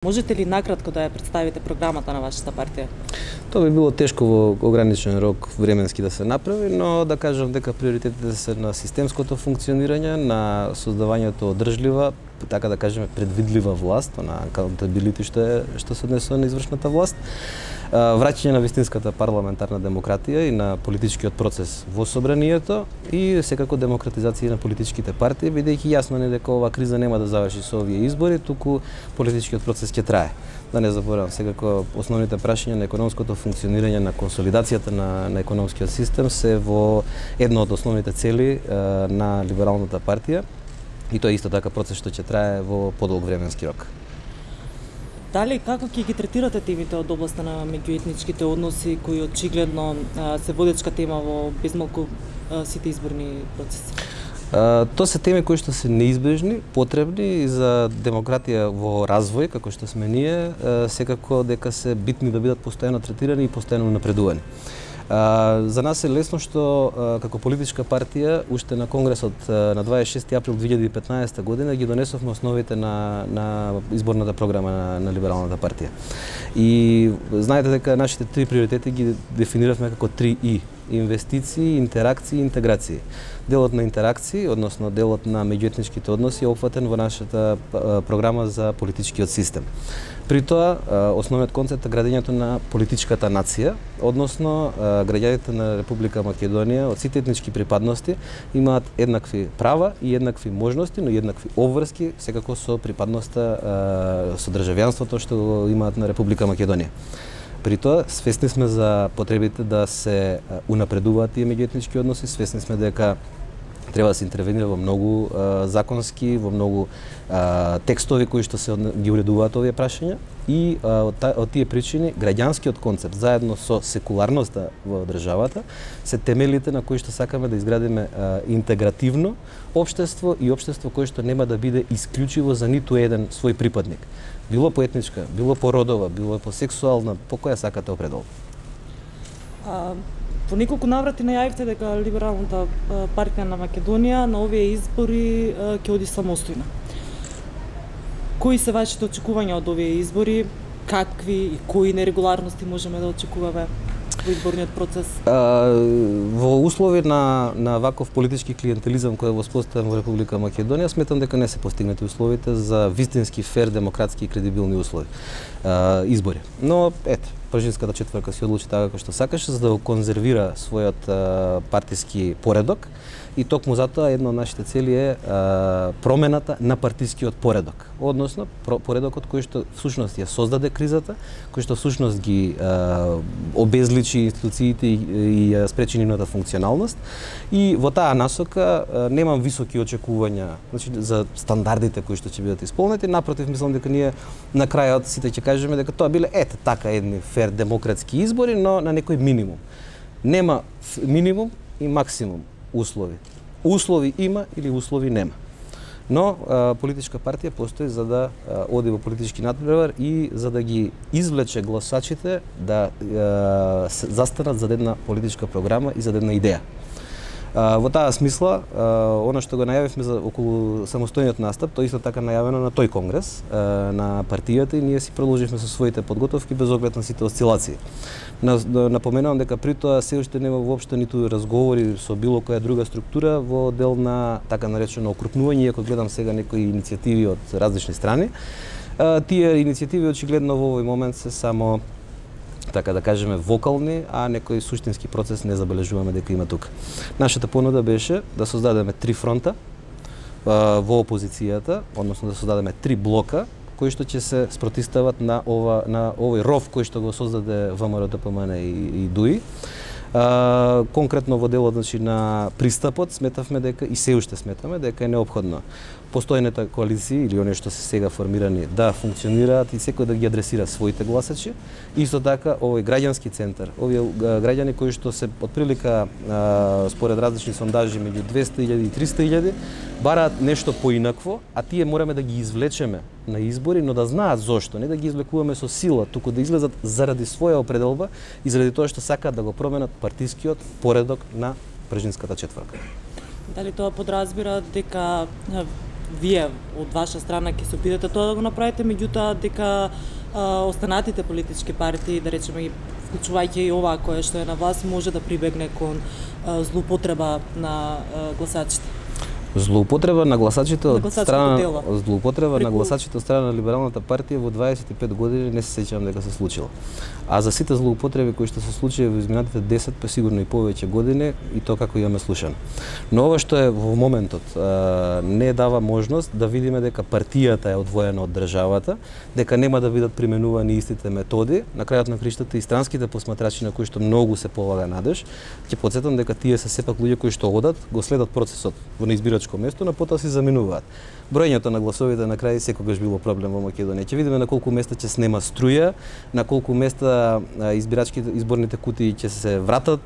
Можете ли накратко да ја представите програмата на вашата партија? Тоа би било тешко во ограничен рок временски да се направи, но да кажам дека приоритетите се на системското функционирање, на создавањето одржлива, така да кажеме предвидлива власт, на accountability што се однесува на извршната власт, враќање на вистинската парламентарна демократија и на политичкиот процес во собранието и секако демократизација на политичките партии, бидејќи јасно не дека оваа криза нема да заврши со овие избори, туку политичкиот процес ќе трае. Да не заборавам, секако основните прашања на економското функционирање, на консолидацијата на економскиот систем се во една од основните цели на либералната партија и тоа е исто така процес што ќе трае во подолг временски рок. Дали како ќе ги третирате темите од областа на меѓуетничките односи кои очигледно се водечка тема во безмалку сите изборни процеси? Тоа се теми кои што се неизбежни, потребни за демократија во развој, како што сме ние, секако дека се битни да бидат постојано третирани и постојано напредувани. За нас е лесно што како политичка партија уште на конгресот на 26 април 2015 година ги донесовме основите на изборната програма на либералната партија. И знаете дека нашите три приоритети ги дефиниравме како 3И: инвестиции, интеракции и интеграции. Делот на интеракции, односно делот на меѓуетничките односи, е опфатен во нашата програма за политичкиот систем. При тоа, основниот концепт е градењето на политичката нација, односно граѓаните на Република Македонија од сите етнички припадности имаат еднакви права и еднакви можности, но и еднакви обврски, секако со припадноста, со државјанството што имаат на Република Македонија. При тоа, свесни сме за потребите да се унапредуваат тие меѓуетнички односи, свесни сме дека треба да се интервенира во многу законски, во многу текстови кои што се ги уредуваат овие прашања и од тие причини граѓанскиот концепт заедно со секуларноста во државата се темелите на кои што сакаме да изградиме интегративно општество и општество кое што нема да биде исклучиво за ниту еден свој припадник. Било по етничка, било по родова, било по сексуална, по која сакате определ. По неколку наврати најавивте дека либералната партија на Македонија на овие избори ќе оди самостојно. Кои се вашите очекувања од овие избори? Какви и кои нерегуларности можеме да очекуваме во изборниот процес? Во услови на ваков политички клиентелизам кој е воспоставен во Република Македонија, сметам дека не се постигнати условите за вистински фер, демократски и кредибилни услови избори. Но ето, Пржинската четврка се одлучи така како што сакаше за да го конзервира својот партиски поредок и токму затоа една од нашите цели е промената на партискиот поредок, односно поредокот кој што всушност ја создаде кризата, кој што всушност ги обезличи институциите и ја спречи нивната функционалност. И во таа насока немам високи очекувања, значи за стандардите кои што ќе бидат исполнети, напротив мислам дека ние на крајот сите ќе кажеме дека тоа биле така едни фер демократски избори, но на некој минимум. Нема минимум и максимум услови. Услови има или услови нема. Но политичка партија постои за да оди во политички надпревар и за да ги извлече гласачите да застанат за една политичка програма и за една идеја. Во таа смисла, она што го најавивме за околу самостојниот настап, тоа исто така најавено на тој конгрес на партијата и ние си продолживме со своите подготовки без оглед на сите осцилации. Напоменувам дека при тоа се уште нема воопшто ниту разговори со било која друга структура во дел на така наречено окрупнување, иако гледам сега некои иницијативи од различни страни. Тие иницијативи очигледно во овој момент се само така да кажеме вокални, а некој суштински процес не забележуваме дека има тука. Нашата понуда беше да создадеме 3 фронта во опозицијата, односно да создадеме 3 блока кои што ќе се спротивстават на овој ров кој што го создаде ВМРО, ДПМН и ДУИ. Конкретно во делот на пристапот сметавме дека и се уште сметаме дека е неопходно постојните коалиции или оние што се сега формирани да функционираат и секој да ги адресира своите гласачи. Исто така овој граѓански центар, овие граѓани кои што се отприлика според различни сондажи меѓу 200.000 и 300.000 бараат нешто поинакво, а тие мораме да ги извлечеме на избори, но да знаат зошто, не да ги извлекуваме со сила, туку да излезат заради своја определба и заради тоа што сакаат да го променат партискиот поредок на Пржинската четврка. Дали тоа подразбира дека вие од ваша страна ќе се обидете тоа да го направите, меѓутоа дека останатите политички партии, да речеме, вклучувајќи и оваа која што е на власт, може да прибегне кон злоупотреба на гласачите. Злоупотреба на гласачите од страна на гласачите од страна на Либералната партија во 25 години не се сеќавам дека се случило. А за сите злоупотреби кои што се случиле во изминатите 10 па сигурно и повеќе години, и тоа како имаме слушано. Но ова што е во моментот не дава можност да видиме дека партијата е одвоена од државата, дека нема да бидат применувани истите методи. На крајот на криштата и странските посматрачи на кои што многу се полага надеж, ќе потсетам дека тие се сепак луѓе кои што одат, го следат процесот во неизбирачко место, на потоа си заминуваат. Броењето на гласовите на крај секогаш било проблем во Македонија. Ќе видиме на колку места ќе снема струја, на колку места изборните кутии ќе се вратат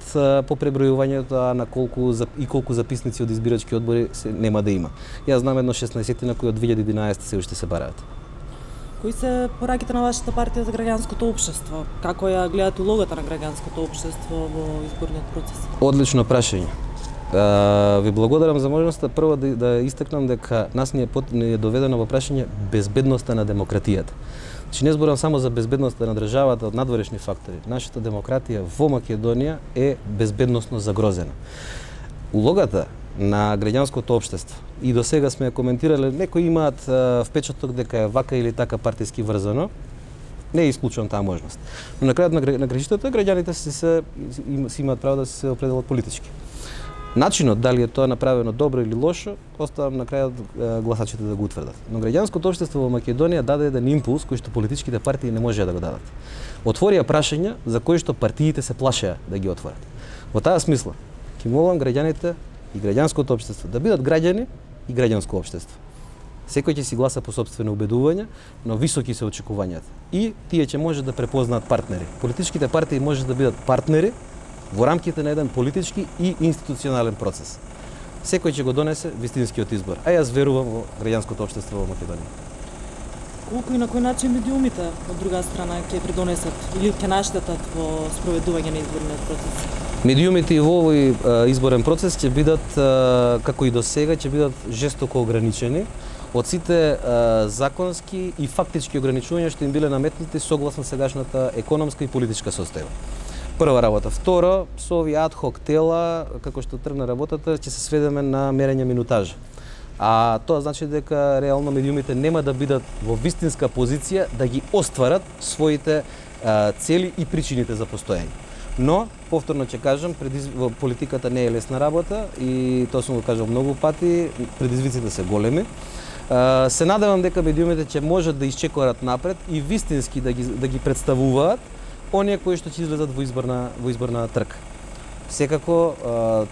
по пребројувањето, а на колку записници од избирачки одбори нема да има. Јас знам едно 16 кои од 2011 се уште се бараат. Кои се пораките на вашата партија за граѓанското општество? Како ја гледате улогата на граѓанското општество во изборниот процес? Одлично прашање. Ви благодарам за можноста прво да истакнам дека нас ни е доведено во прашање безбедноста на демократијата. Значи не зборам само за безбедноста на државата од надворешни фактори. Нашата демократија во Македонија е безбедносно загрозена. Улогата на граѓанското општество и до сега сме коментирале, некои имаат впечаток дека е вака или така партиски врзано. Не исклучувам таа можност. Но на крајот на граѓаните граѓаните си имаат право да се определат политички. Начинот дали е тоа направено добро или лошо, оставам на крајот гласачите да го утврдат. Но граѓанското општество во Македонија даде еден импулс кој што политичките партии не можеа да го дадат. Отворија прашања за кои што партиите се плашеа да ги отворат. Во таа смисла, ќе молам граѓаните и граѓанското општество да бидат граѓани и граѓанско општество. Секој ќе си гласа по сопствено убедување, но високи се очекувањата. И тие ќе може да препознаат партнери. Политичките партии може да бидат партнери во рамките на еден политички и институционален процес. Секој ќе го донесе вистинскиот избор, а јас верувам во граѓанското општество во Македонија. Колку и на кој начин медиумите од друга страна ќе придонесат или ќе наштетат во спроведување на изборниот процес? Медиумите и во овој изборен процес ќе бидат, како и до сега, ќе бидат жестоко ограничени од сите законски и фактички ограничувања што им биле наметнати согласно сегашната економска и политичка состојба. Прва работа. Второ, со овие адхок тела, како што тргна работата, ќе се сведеме на мерење минутажа. А тоа значи дека реално медиумите нема да бидат во вистинска позиција да ги остварат своите цели и причините за постоење. Но, повторно ќе кажам, во политиката не е лесна работа и тоа сум го кажал многу пати, предизвиците се големи. Се надевам дека медиумите ќе можат да исчекорат напред и вистински да ги представуваат оние кои што ќе излезат во изборна трка. Секако,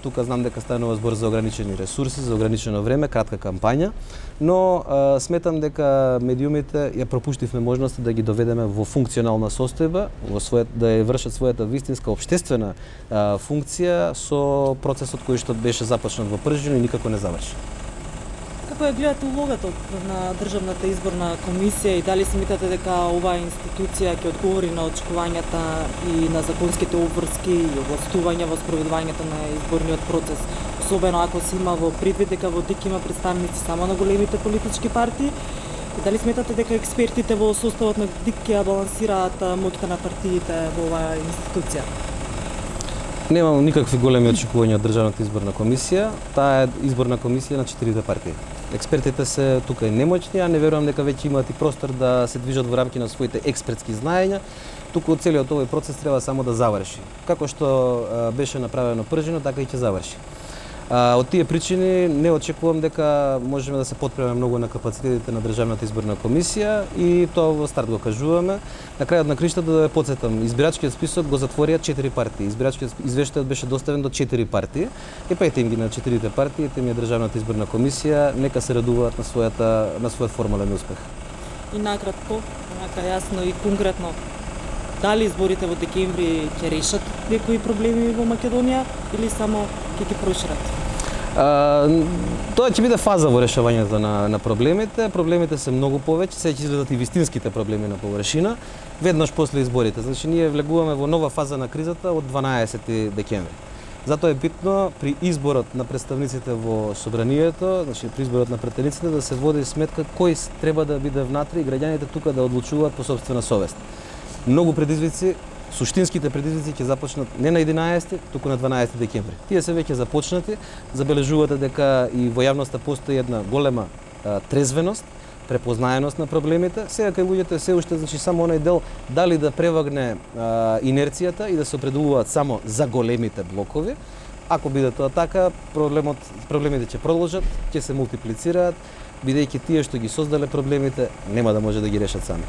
тука знам дека станува збор за ограничени ресурси, за ограничено време, кратка кампања, но сметам дека медиумите ја пропуштивме можност да ги доведеме во функционална состојба, да ја вршат својата вистинска општествена функција со процесот кој што беше започнат во пржина и никако не заврши. Како ја гледате улогата на Државната изборна комисија и дали смятате дека оваа институција ќе одговори на очекувањата и на законските обврски и овластувања во спроведувањето на изборниот процес, особено ако се има во предвид дека во ДИК има представници само на големите политички партии, и дали сметате дека експертите во составот на ДИК ќе балансираат моќта на партиите во оваа институција? Немам никакви големи очекувања од Државната изборна комисија. Таа е изборна комисија на 4 партии. Експертите се тука и немоćни, а не верувам дека веќе имаат и простор да се движат во рамки на своите експертски знаења. Туку целиот овој процес треба само да заврши. Како што беше направено пржино, така и ќе заврши. Од тие причини не очекувам дека можеме да се потпреме многу на капацитетите на Државната изборна комисија и тоа во старт го кажуваме. На крајот на криштата да ја потсетам, избирачкиот список го затворија 4 партии. Избирачкиот извештајот беше доставен до 4 партии. И пајте им ги на 4 партии, тем е Државната изборна комисија, нека се радуваат на својот формален успех. И накратко, јасно и конкретно, дали изборите во декември ќе решат некои проблеми во Македонија или само ќе ги прошират? Тоа ќе биде фаза во решавањето на проблемите. Проблемите се многу повеќе, сега ќе излезат и вистинските проблеми на површина, веднаш после изборите. Значи ние влегуваме во нова фаза на кризата од 12 декември. Затоа е битно при изборот на представниците во собранието, значи при изборот на претениците да се води сметка кој треба да биде внатре и граѓаните тука да одлучуваат по сопствена совест. Многу предизвици, суштинските предизвици ќе започнат не на 11, туку на 12 декември. Тие се веќе започнати, забележувате дека и во јавноста постои една голема трезвеност, препознаеност на проблемите. Сега кај луѓето се уште значи само оној дел дали да превагне инерцијата и да се определуваат само за големите блокови. Ако биде тоа така, проблемите ќе продолжат, ќе се мултиплицираат, бидејќи тие што ги создале проблемите нема да може да ги решат сами.